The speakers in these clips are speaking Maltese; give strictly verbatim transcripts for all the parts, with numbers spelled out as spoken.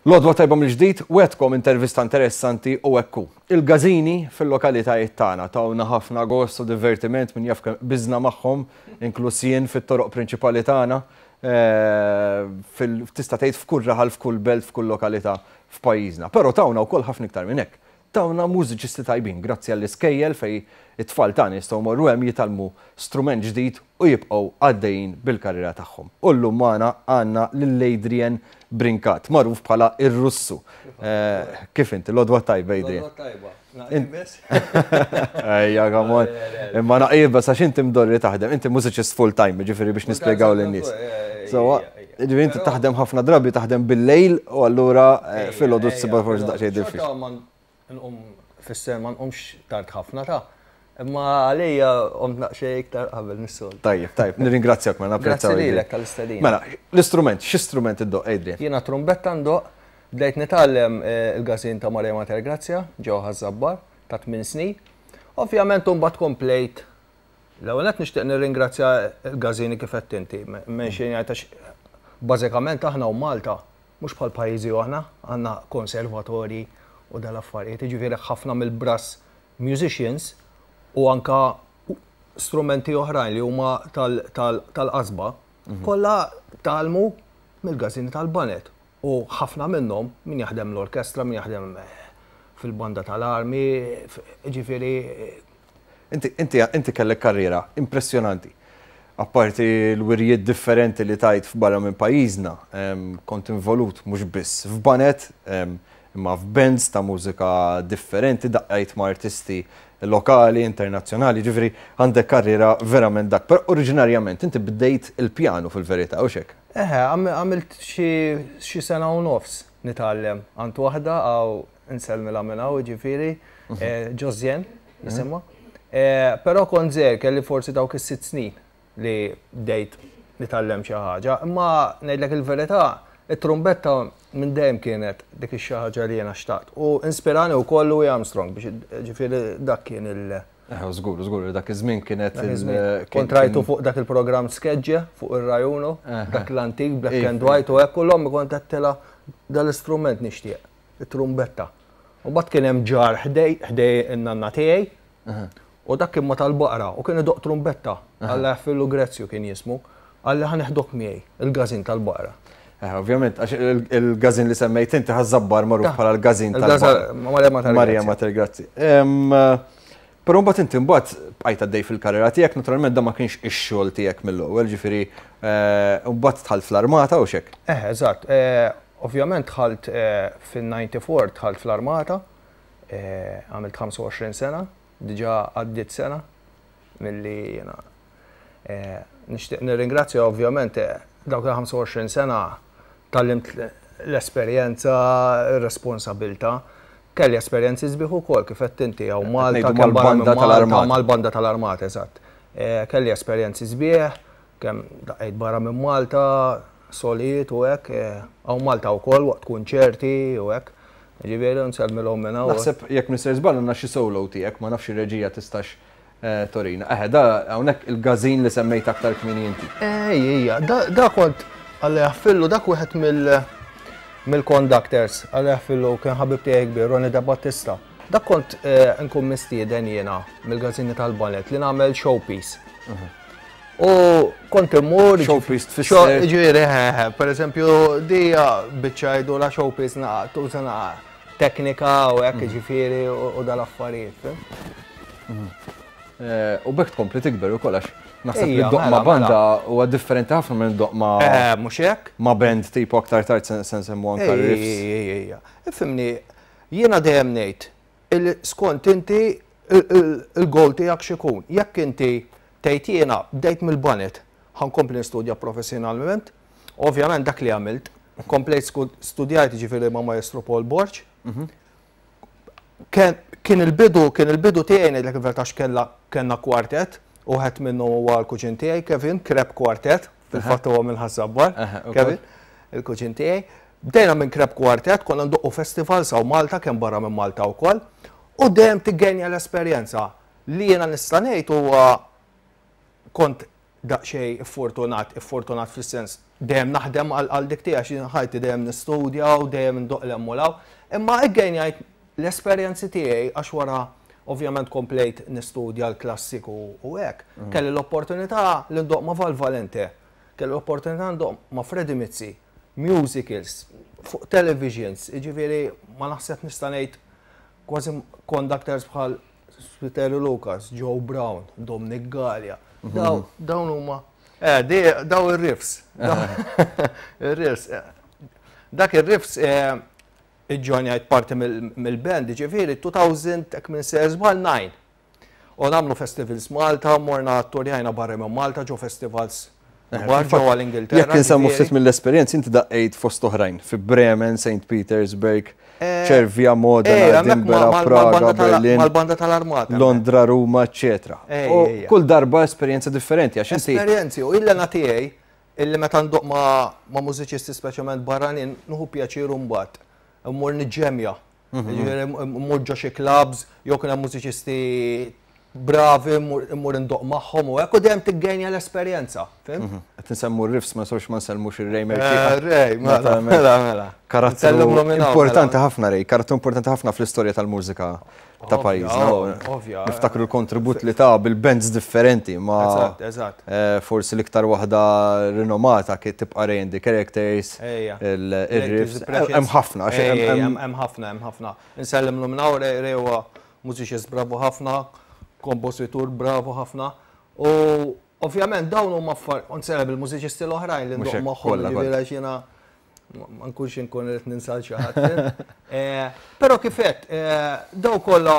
L-għodwa t-tajba mill-ġdid, wegħedtkom intervista interessanti u ekku. Il-gazini fil-lokalitajiet tagħna tawna ħafna gost u divertiment, min jaf bizna magħhom, inkluż jien, fit-toroq prinċipali tagħna. eh, Tista' tgħid f'kull raħal, f'kull belt, f'kull lokalità f'pajjiżna. Però tawna wkoll ħafna iktar minn hekk. Tawna mużiċisti tajbin grazzi għall-iskejjel fej it-tfal tagħna jistgħu morru hemm, jitgħallmu strument ġdid u jibqgħu għaddejjin bil-karriera tagħhom. U llum magħna għandna lil Adrian Brincat, magħruf bħala ir-Russu. Eh, Kif inti, l-għodwa t-tajba, Adrian? Tajba. Ejja, come on. Imma naqibes għax inti mdorri taħdem, inti mużiċist full time, ġifieri biex nispjegaw lin-nies. So, ġifieri inti taħdem ħafna drabi, taħdem bil-lejl u allura eh, filgħodu ssibha forsi daqsxejn diffiċli. Nqum fisser ma nqumx tard ħafna ta' imma għalija qomt naqxej iktar qabel mis-sol. Tajjeb, tajjeb, nirringrazzjak, ma napprezzaw. Grazzi lilek tal-istedina. Mela, l-istrument, x'istrument iddoqq, Adrian? Jiena trumbetta ndoqq, bdejt nitgħallem eh, il-gazin ta' Maria Mater Grazia, ġewwa Ħaż-Żabbar, ta' tmien snin. Ovvjament mbagħad komplejt. L-ewwel qed nixtieq nirringrazzja l-gazini kif qed inti, minn xejn għax bażikament aħna u Malta mhux bħal pajjiżi oħra, għandna konservatori u dal-affarijiet, jiġifieri ħafna mill-brass musicians u anka strumenti oħrajn li huma tal-qasba, kollha tgħallmu mill-gazini tal-baned. U ħafna minnhom min jaħdem l-orkestra, min jaħdem eh, fil-banda tal-armi, ġifieri. Inti, inti, inti kellek karriera impressjonanti. Apparti l-wirjiet differenti li tajt f'barra minn pajjiżna, em, kont involut mhux biss f'baned, em, imma f'bands ta' mużika differenti, daqqajt ma' artisti lokali, internazzjonali, ġifieri għandek karriera verament dak. Però oriġinarjament inti bdejt il-pjanu fil-verità, u hekk? Eħe, għamilt xi sena u nofs nitgħallem għand waħda għaw insellmilha minn hawn, ġifieri, mhm. Ġozjen, jisimha. Eh, però kont żgħir, kelli forsi dawk is-sitt snin li bdejt nitgħallem xi ħaġa, imma ngħidlek il-verità, it-trumbetta minn dejjem kienet dik ix-xi ħaġa li jiena xtaqt. U inspirani wkoll Louis Armstrong biex ġifieri dak kien il- Eh, żgur, żgur, dak iż-żmien kienet. Kont rajtu fuq dak il-programm Skeġġe fuq ir-Rai Uno, dak l-antik, black and white u hekk, u l-ommi kont għedtilha dal-istrument nixtieq, it-trumbetta. U mbagħad kien hemm ġar ħdej ħdej in-nanna tiegħi u dak kien ma tal-baqra u kien idoqq trumbetta, Alla jaħfirlu, Grezzju kien jismu, qalli ħa neħdok miegħi, il-gazin tal-baqra. Eh, ovvjament, għax il-gazin li semmejt inti Ħaż-Żabbar magħruf bħala l-gazin tal-baqra. Maria. Mater Grazzi. Però mbagħad inti mbagħad bqajt għaddej fil-karriera tiegħek, naturalment da ma kienx ix-xogħol tiegħek mill-ewwel, ġifieri eh, mbagħad dħalt fl-armata u hekk. Eh, eżatt. Eh, ovvjament dħalt fil-disgħa u disgħin, dħalt fl-armata, għamilt ħamsa u għoxrin sena, diġà għaddiet sena milli jiena nixtieq nirringrazzja, ovvjament dawk il-ħamsa u għoxrin sena tgħallimt l-esperjenza, ir-responsabilità. Kelli esperjenzi sbieħ ukoll kif qed inti hawn Malta, mal-banda tal-armata. Mal-banda tal-armata, eżatt. Eh, kelli esperjenzi sbieħ, kemm daqqejt barra minn Malta, solijiet u hekk, eh, hawn Malta wkoll waqt kunċerti u hekk. Ġifieri nsellmilhom minn hawn. Naħseb jekk Mister Żball għandna xi solo tiegħek, ma nafx ir-reġija tistax eh, turina. Eħe, da hawnhekk il-gazin li semmejt aktar kmieni inti. Ej, ejja, da kont, Alla jaħfirlu, dak wieħed mill mill-conductors, Alla jaħfirlu, kien ħabib tiegħi kbir, Ronnie Da Battista. Dak kont eh, nkun mistieden jiena mill-gazini tal-baned li nagħmel showpiece. U kont immur. Showpiece tfisser? Ġifieri, per eżempju, dija biċċa jgħidu la showpiece naqa, tuża naqa teknika u hekk, ġifieri, u dal-affarijiet. Eh, u b'hekk tkompli tikber u kollox. Naħseb li ddoqq ma' banda huwa differenti ħafna minn ddoqq ma' Eh, mhux hekk? Ma' band tipo aktar tard se nsemmu anka riffs. Ejja, ifhimni, jiena dejjem ngħid skont inti il-goal tiegħek x'ikun. Jekk inti tgħid jiena bdejt mill-baned, ħa nkompli nistudja professjonalment, ovvjament dak li għamilt, komplejt studjajt ġifieri ma' Maestro Paul Borg. Mhm. Kien il-bidu, kien il-bidu tiegħi, ngħidlek il-verità, kella kellna kwartet, u wieħed minnu huwa l-kuġin tiegħi Kevin, Kreb Quartet, fil-fatt huwa minn Ħaż-Żabbar, Kevin, il-kuġin tiegħi. Bdejna minn Kreb Quartet, konna ndoqqu festival hawn Malta, kemm barra minn Malta wkoll, u dejjem tiggenja l-esperjenza. Li jiena nista' ngħid huwa kont daqsxejn fortunat, fortunat fis-sens dejjem naħdem għal dik tiegħi, għax ħajti dejjem nistudja u dejjem ndoqq l-emmulaw. Imma iggainjajt l-esperjenzi tiegħi għax wara ovvjament komplejt nistudja l-klassiku u hekk. Mm. Kelli l-opportunità li ndoqq ma' Val Valente, kelli l-opportunità ndoqq ma' Freddie Mizzi, musicals, fuq televisions, jiġifieri ma naħseb nista' ngħid kważi conductors bħal Spiteri Lucas, Joe Brown, Dominic Gallia. Mhm. Dawn huma eh, daw ir-riffs. Ir-riffs. Eh, dak ir-riffs eh, iġġoinjajt parti mill-band, ġifieri elfejn, hekk minn sejjer żball, disgħa. U nagħmlu festivals Malta, morna turjajna barra minn Malta, ġo festivals ġewwa l-Ingilterra. Jekk insemmu ftit mill-esperjenzi, inti daqqejt fost oħrajn fi Bremen, Saint Petersburg, eh, Cervia, Modena, Edinburgh, Praga, Berlin, mal-banda tal-Armata. Londra, Ruma, eccetera. U kull darba esperjenza differenti, għax inti. Esperjenzi, u illa tiegħi illi meta ndoqq ma' mużiċisti, speċjalment barranin, nieħu pjaċir mbagħad. Mmur niġġemja. Mhm. Ġifieri mmur ġo xi clubs, jew kien hemm mużiċisti bravi, mmur indoqq magħhom u hekk u dejjem tiggainja l-esperjenza. Fhimt? Mhm. Qed nsemmu r-riffs, ma sorx ma nsellmux ir-Ray. Eh, Ray, mela, mela, mela. Karattru importanti ħafna Ray, karattru importanti ħafna fl-istorja tal-mużika ta' pajjiżna. Ovvja. Niftakru l-kontribut li ta bil-bands differenti ma Eżatt, eżatt. Eh, forsi l-iktar waħda rinomata kien tibqa' Ray and the Characters, il-riffs. Hemm ħafna. Hemm ħafna, hemm ħafna. Nsellimlu minn hawn, Ray huwa mużiċist bravu ħafna, kompożitur bravo ħafna. U ovvjament dawn huma affar, nsellem il-mużiċisti l-oħrajn li ndoqq magħhom, ġifieri jiena ma nkunx inkun qed ninsa xi ħadd. Eh, però kif għedt, eh, daw kollha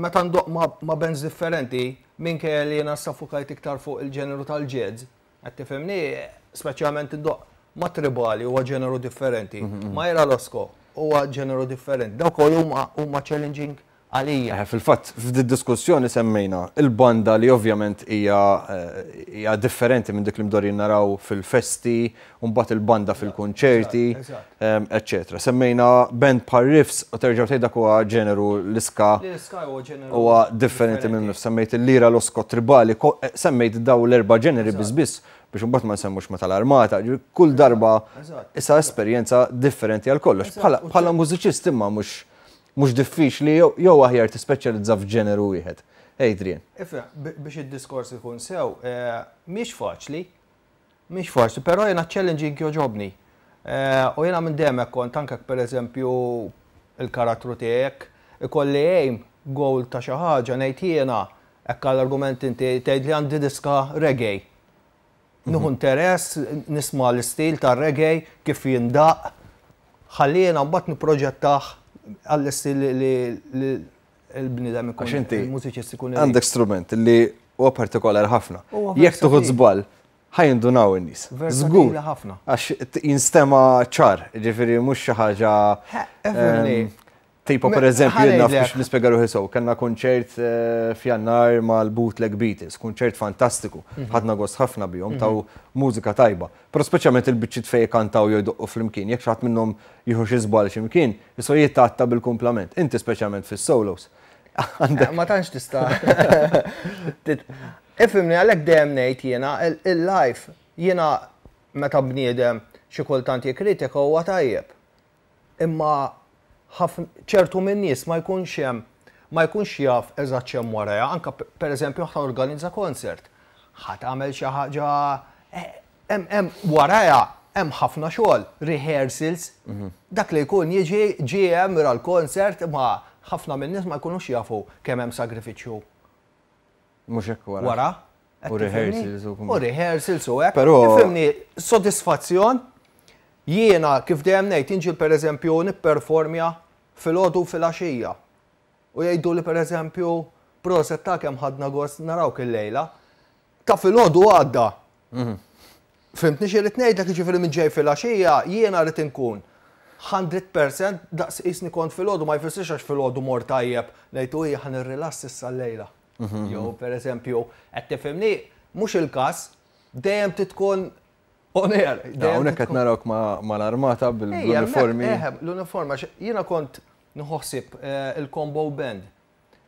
meta ndoqq ma' bands differenti, minkejja li jiena ffukajt iktar fuq il-ġeneru tal-jazz, qed tifhimni, speċjalment indoqq ma' tribali, huwa ġeneru differenti, mhm, mhm. ma' Ira Losco huwa ġeneru differenti. Daw kollu huma challenging għalija. Eh, fil-fatt, f'di diskussjoni semmejna il-banda li ovvjament hija eh, hija differenti minn dik li mdorrin naraw fil-festi, u mbagħad il-banda fil-konċerti, eccetera. Semmejna band bħal riffs u terġgħu tgħid dak huwa ġeneru l-ska huwa differenti minn semmejt il-Lira Losco tribali, eh, semmejt daw l-erba' ġeneri biss biss biex mbagħad ma nsemmux ma tal-armata, kull darba issa esperjenza differenti għal kollox. Bħala mużiċist imma mhux mhux diffiċli jew aħjar tispeċjalizza f'ġeneru wieħed? Adrian. Ifhem, biex id-diskors ikun sew, eh, mhix faċli, mhix faċli, però jiena challenging jogħġobni. Eh, u jiena minn dejjem kont anke pereżempju il-karattru tiegħek, ikolli aim, goal ta' xi ħaġa, ngħid jiena hekk għall-argument inti tgħid li għandi diska reggae. Nieħu interess, nisma' l-istil tar reggae kif jindaq, ħalli jiena mbagħad nipproġettah għall-istil li l-bniedem ikun. Għax inti il-mużiċist ikun. Għandek strument li huwa partikolari ħafna. Jekk tieħu żball, ħa jindunaw in-nies. Żgur. Ħafna. Għax jinstema ċar, ġifieri mhux xi ħaġa. Tipo per eżempju, naf biex nispjega ruħi sew, kellna konċert eh, f'Jannar mal-Bootleg Beatles, konċert fantastiku, mhm. ħadna gost ħafna bihom, taw mużika tajba. Però speċjalment il-biċċiet fej kantaw jew jdoqqu flimkien, jekk xi ħadd minnhom jieħu xi żball x'imkien, iso jittatta bil-kumplament. Inti speċjalment fis-solos. Eh, Għandek ma tantx tista'. Ifhimni, għalhekk dejjem ngħid jiena il-life jiena meta bniedem xi kultant jikkritika huwa tajjeb. Imma ċertu minn nies ma jkunx hemm ma jkunx jaf eżatt x'hemm warajha, anke pereżempju ħa organizza concert. Ħa tagħmel xi ħaġa, eh, hemm warajha hemm ħafna xogħol, rehearsals. Mhm. Dak li jkun jiġi ġie hemm ra l-concert, ma ħafna minn nies ma jkunux jafu kemm hemm sagrifiċċju. Mhux hekk wara. Wara. U rehearsals u U rehearsals u hekk. Però ifhimni, sodisfazzjon jiena kif dejjem ngħid inġi pereżempju nipperformja filgħodu fil-għaxija. U jgħidu li pereżempju proset ta' kemm ħadna gost narawk il-lejla. Ta' filgħodu għadda. Mhm. Fhimtni x'irrid ngħidlek, jiġifieri minn ġej fil-għaxija jiena rrid inkun mija fil-mija daqs qisni kont filgħodu, ma jfissirx għax filgħodu mor tajjeb ngħidu hija ħa nirrilass issa llejla. Mhm. Jew pereżempju qed tifhimni, mhux il-każ, dejjem titkun on air. Hawnhekk qed narawk mal-armata bil-uniformi. L-uniforma, jiena kont nħossib eh, il-combo band.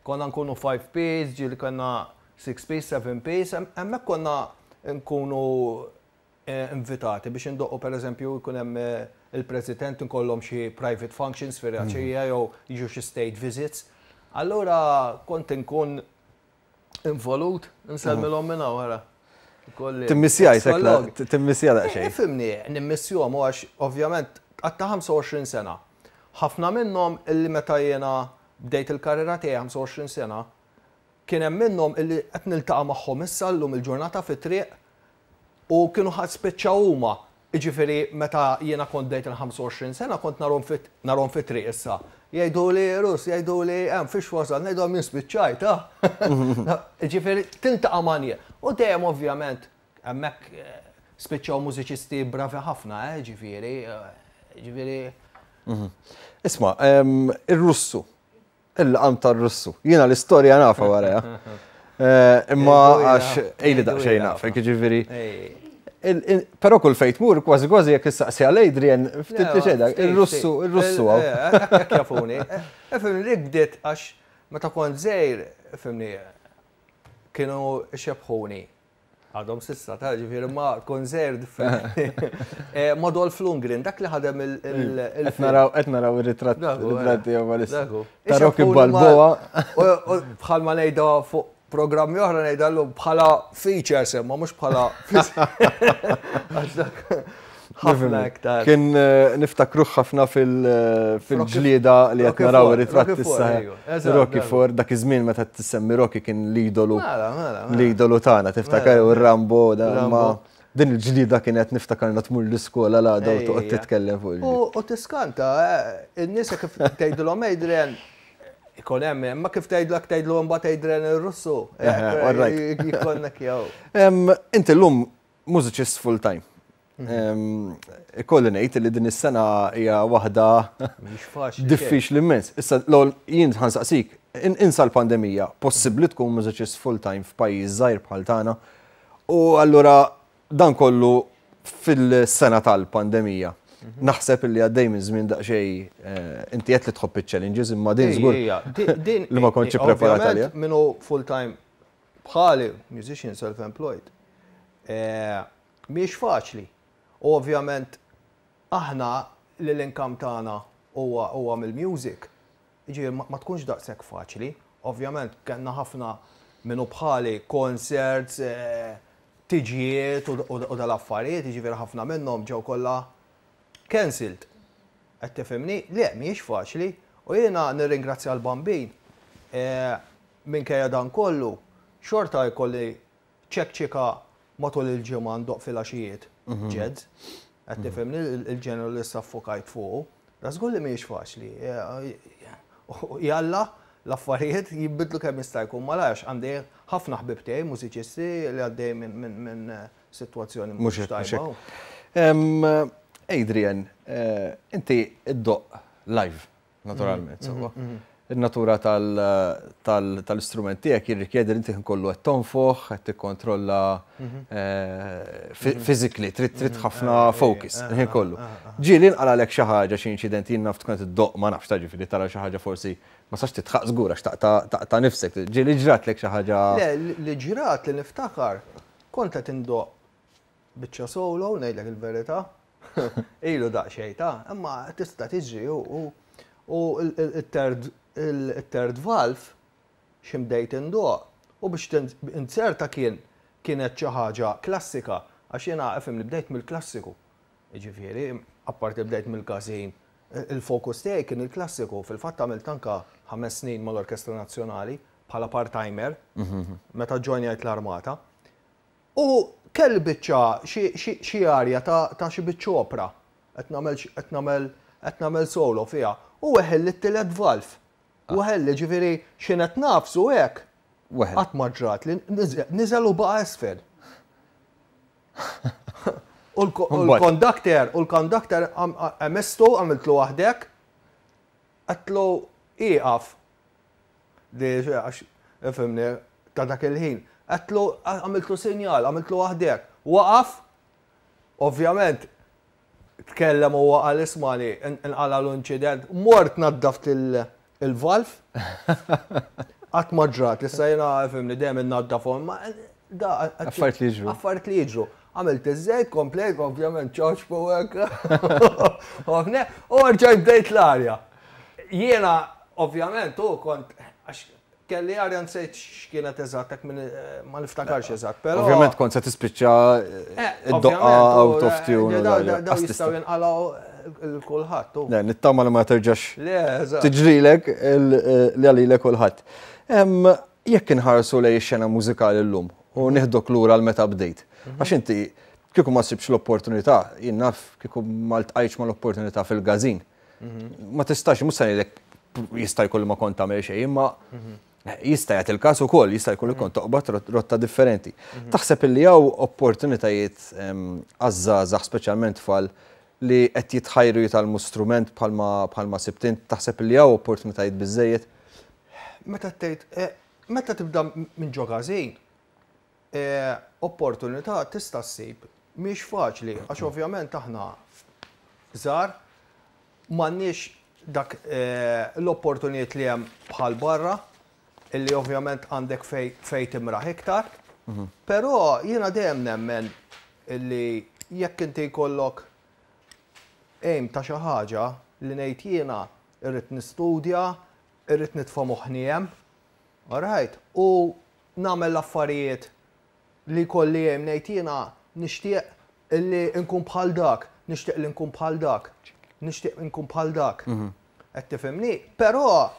Konna nkunu five piece, ġieli konna six piece, seven piece, hemmhekk konna nkunu eh, invitati biex indoqqu, per eżempju, jkun hemm eh, il-President, nkollhom xi private functions fir-raċija jew jiġu xi state visits. Allura kont inkun involut, nsellmilhom minn hawn wara. Timmissja jtek, timmissja daqsxejn. Ifhimni, nimmissjahom u għax ovvjament għatta ħamsa u għoxrin sena. Ħafna minnhom illi meta jiena bdejt il-karriera tiegħi ħamsa u għoxrin sena, kien hemm minnhom illi qed niltaqa' magħhom issa llum il-ġurnata fit-triq u kienu ħadd spiċċaw huma. Jiġifieri meta jiena kont bdejt il-ħamsa u għoxrin sena kont narhom fit-triq issa. Jgħidu li Rus, jgħidu li hemm fiex wasal, ngħidu min spiċċajt, ah. Jiġifieri tiltaqa' ma' nies. U dejjem ovvjament hemmhekk eh, spiċċaw mużiċisti bravi ħafna, eh, ġifieri, eh, ġifieri. Mhm. Isma', ir-Russu, il-laqam tar-Russu, jiena l-istorja nafa wara. Eh, imma għax ejli daqsxejn naf, ġifieri. Però kull fejn tmur, kważi kważi jekk issaqsi għal Adrian, ftit li xejn, il-Russu, il-Russu għaw. Hekk jafuni. Ifhimni, dik bdiet għax meta kont żgħir, ifhimni, kienu xebħuni. Għadhom s'issa, ta' ġifieri ma kont żgħir differenti. Eh, Ma Dolph Lundgren, dak li ħadem il- Qed naraw qed naraw ir-ritratt ritratt tiegħu bħalissa. Ta' Rocky Balboa. U bħalma ngħidha fuq programmi oħra, ngħidha bħala features, imma mhux bħala għax dak ħafna iktar. Kien eh, niftakruh ħafna eh, fil-ġlieda li qed naraw ir-ritratt issa. Rocky Four, dak iż-żmien meta tissemmi Rocky kien l-idolu. Mela, mela, mela. L-idolu tagħna, tiftakar u Rambo, ma din il-ġlieda kienet niftakarna tmur l-iskola l-għada u toqgħod titkellem fuq il U tiskanta, eh, in-nies kif tgħidulhom Adrian ikun hemm, imma kif tgħidlek tgħidlu mbagħad Adrian ir-Russu. Jkollnek jew. Inti llum mużiċist full time. Ikolli ngħid li din is-sena hija waħda diffiċli immens. Issa l jien ħa nsaqsik, insa l-pandemija, possibbli tkun mużiċist full time f'pajjiż żgħir bħal tagħna? U allura dan kollu fil-sena tal-pandemija. Naħseb li għaddej minn żmien daqsxejn eh, inti qed li tħobb iċ-challenges, imma din żgur li ma kontx preparat għalija. Minnu full time bħali musician self-employed. Eh, mhix faċli. U ovvjament aħna li l-income tagħna huwa huwa mill-music. Ġifieri ma tkunx daqshekk faċli. Ovvjament kellna ħafna minnu bħali concerts, eh, tiġijiet u dal-affarijiet, ġifieri ħafna minnhom ġew kollha cancelled. Qed tifhimni? Le, mhijiex faċli. U jiena nirringrazzja l-Bambin. Eh, minkejja dan kollu, xorta jkolli ċekċika matul il-ġimgħa ndoqq fil-għaxijiet mhm. jazz. Qed tifhimni, il-ġeneru li saffokajt fuq. Da żgur li mhijiex faċli. Jalla l-affarijiet jibbidlu kemm jista' jkun malajr. Għandi ħafna ħbib tiegħi mużiċisti li għaddej minn sitwazzjoni mhux tajba. Adrian, eh, inti iddoqq live, naturalment, mhm, sewwa. Mhm, mhm. Il-natura tal-istrument tiegħek jirrikjedi li inti kollu qed tonfoħ, qed tikkontrolla eh, physically, trid trid ħafna focus, il-ħin kollu. Ġieli nqalgħalek xi ħaġa, xi inċident, jien naf tkun iddoqq, ma nafx ta' ġifieri tara xi ħaġa, forsi ma sax titħaq żgur għax taqta' nifsek. Ġieli ġratlek xi ħaġa? Le, li ġrat li niftakar, kont qed indoqq biċċa solo, ngħidlek il-verità. Ilu daqsxejn ta', imma tista' tiġri u u il-third il-third valve ximdejt indoqq u biex inserta kien kienet xi ħaġa klassika, għax jiena ifhem li bdejt mill-klassiku. Ġifieri, apparti bdejt mill-każin, il-fokus tiegħi kien il-klassiku. Fil-fatt għamilt anka ħames snin mal-Orkestra Nazzjonali bħala part-timer meta ġojnjajt l-armata. U kelli biċċa xi arja ta' xi biċċa opera. Qed nagħmel qed nagħmel qed nagħmel solo fiha. U weħel it-tielet valve. Weħel, ġifieri x'inhet nafsu hekk. Qatt ma ġrat li niżel u baqa' esfel. U l-conductor, u l-conductor għamistu, għamiltlu waħdek, għedtlu iqaf. Di, għax, ifhimni, ta' dak il-ħin. Għedtlu, għamiltlu sinjal, għamiltlu waħdek. Waqaf, ovvjament, tkellem u għal ismani, nqala l-inċident, mort naddaft il-valve. Qatt ma ġrat, issa jiena, ifhimni, dejjem naddafhom, ma Da, Affarijiet li jiġru. Affarijiet li jiġru. Għamilt iż-żejt, komplejt, ovvjament ċoċpu hekk. U rġajt bdejt l-arja. Jiena, ovvjament, u kont, għax kelli arja nsejt x'kienet eżatt, hekk minn ma niftakarx eżatt, però. Ovvjament kont se tispiċċa Eh, id-doqqa out of tune. Daw jistgħu jinqalgħu lil kulħadd. u. Le, nittama li ma terġax Le, eżatt. tiġrilek il- li għalilek kulħadd. Em, Jekk inħarsu lejn ix-xena mużikali llum u nieħdok lura l meta bdejt. Għax inti kieku ma sibx l-opportunità, jien naf kieku ma ltqajtx ma l-opportunità fil-każin. Ma tistax, mhux se ngħidlek jista' jkun li ma kont tagħmel xejn, imma jista' jagħti il-każ ukoll, jista' jkun li kont toqbad rot- rotta differenti. Taħseb illi hawn opportunitajiet em, għaż-żgħażagħ speċjalment tfal li qed jitħajru jitgħallmu strument bħalma bħalma sibt int, taħseb li hawn opportunitajiet biżejjed? Meta tgħid, eh, meta tibda minn ġo każin, eh, opportunità tista' ssib mhix faċli, għax ovvjament aħna żgħar m'għandniex dak eh, l-opportunijiet li hemm bħal barra, illi ovvjament għandek fej, fej timraħ iktar. Però jiena dejjem nemmen illi jekk inti jkollok aim ta' xi ħaġa li ngħid jiena irrid nistudja, irrid nitfa' moħħni hemm, alright, u nagħmel l-affarijiet li kolli hemm ngħid jiena nixtieq illi nkun bħal dak, nixtieq li nkun bħal dak, nixtieq nkun bħal dak. Qed tifhimni? Però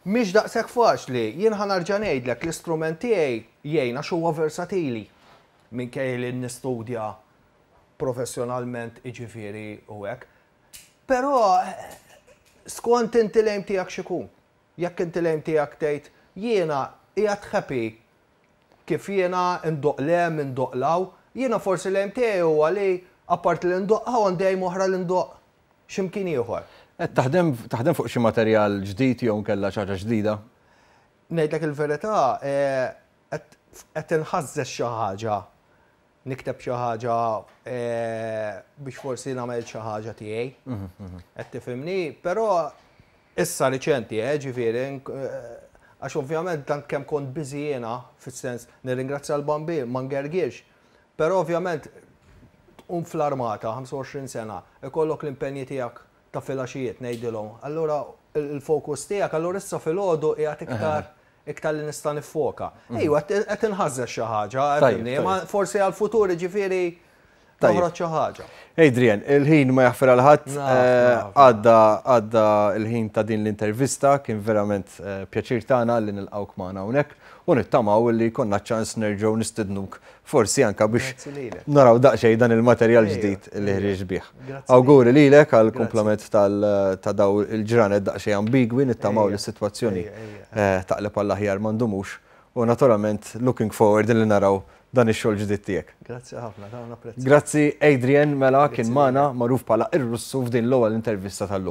mhix daqshekk faċli, jien ħa nerġa' ngħidlek l-istrument tiegħi jgħin għax huwa versatili minkejja li nistudja professjonalment iġifieri u hekk. Però skont inti l-aim tiegħek x'ikun. Jekk inti l-aim tiegħek tgħid jiena qiegħed happy kif jiena ndoqq 'l hemm, indoqq 'l hawn, jiena forsi l-aim tiegħi huwa li apart li ndoqq hawn għandi aim oħra li ndoqq x'imkien ieħor. Qed taħdem taħdem fuq xi materjal ġdid jew nkella xi ħaġa ġdida? Ngħidlek il-verità, eh, qed qed inħażżeż xi ħaġa, nikteb xi ħaġa eh, biex forsi nagħmel xi ħaġa tiegħi. Qed tifhimni, però issa riċenti, eh, ġifieri, eh, għax ovvjament tant kemm kont busy jiena, fis-sens nirringrazzja l-Bambin, ma ngergirx, però ovvjament tqum fl-armata, ħamsa u għoxrin sena, ikollok l-impenji tiegħek ta' filgħaxijiet ngħidilhom. Allura il-fokus tiegħek, allura issa filgħodu qiegħed iktar iktar li nista' nifoka. Ejwa, qed inħażżeż xi ħaġa, Tajjeb, ma forsi għal-futur ġifieri Tajjeb. noħroġ xi ħaġa. Adrian, il-ħin ma jaħfer għal ħadd, Naf, eh, naf. għadda għadda il-ħin ta' din l-intervista, kien verament eh, pjaċir tagħna li nilqgħuk magħna hawnhekk u nittamaw li konna ċans nerġgħu nistednuk forsi anka biex Grazzi lilek. naraw daqsxejn dan il-materjal Ejja, ġdid li ħriġ bih. Grazzi. Awguri lilek għal Grazzi. kumplament tal- ta' daw il-ġranet daqsxejn ambigwi, nittamaw Ejja, li s-sitwazzjoni ejja, ejja. eh, taqleb għall-aħjar ma ndumux u naturalment looking forward li naraw dan ix-xogħol ġdid tiegħek. Grazzi ħafna, ta' napprezza. Grazzi Adrian mela kien Grazzi magħna magħruf bħala ir-Russu f'din l-ewwel intervista tal-lum.